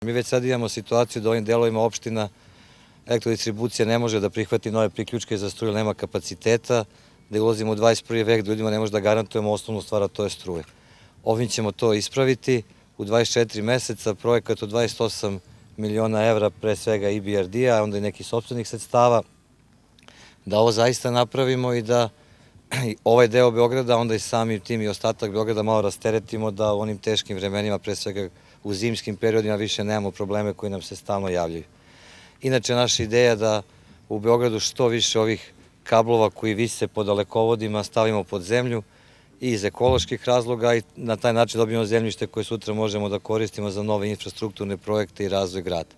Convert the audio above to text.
Mi već sad imamo situaciju da ovim delovima opština elektrodistribucija ne može da prihvati nove priključke za struju, nema kapaciteta, da ulazimo u 21. vek, da ljudima ne može da garantujemo osnovnu stvar, a to je struje. Ovim ćemo to ispraviti u 24 meseca, projekat od 28 miliona evra, pre svega IBRD-a, onda i nekih sopstvenih sredstava, da ovo zaista napravimo i da ovaj deo Beograda, onda i samim tim i ostatak Beograda malo rasteretimo, da u onim teškim vremenima, pre svega u zimskim periodima, više nemamo probleme koji nam se stalno javljaju. Inače, naša ideja je da u Beogradu što više ovih kablova koji vise po dalekovodima stavimo pod zemlju i iz ekoloških razloga i na taj način dobijemo zemljište koje sutra možemo da koristimo za nove infrastrukturne projekte i razvoj grada.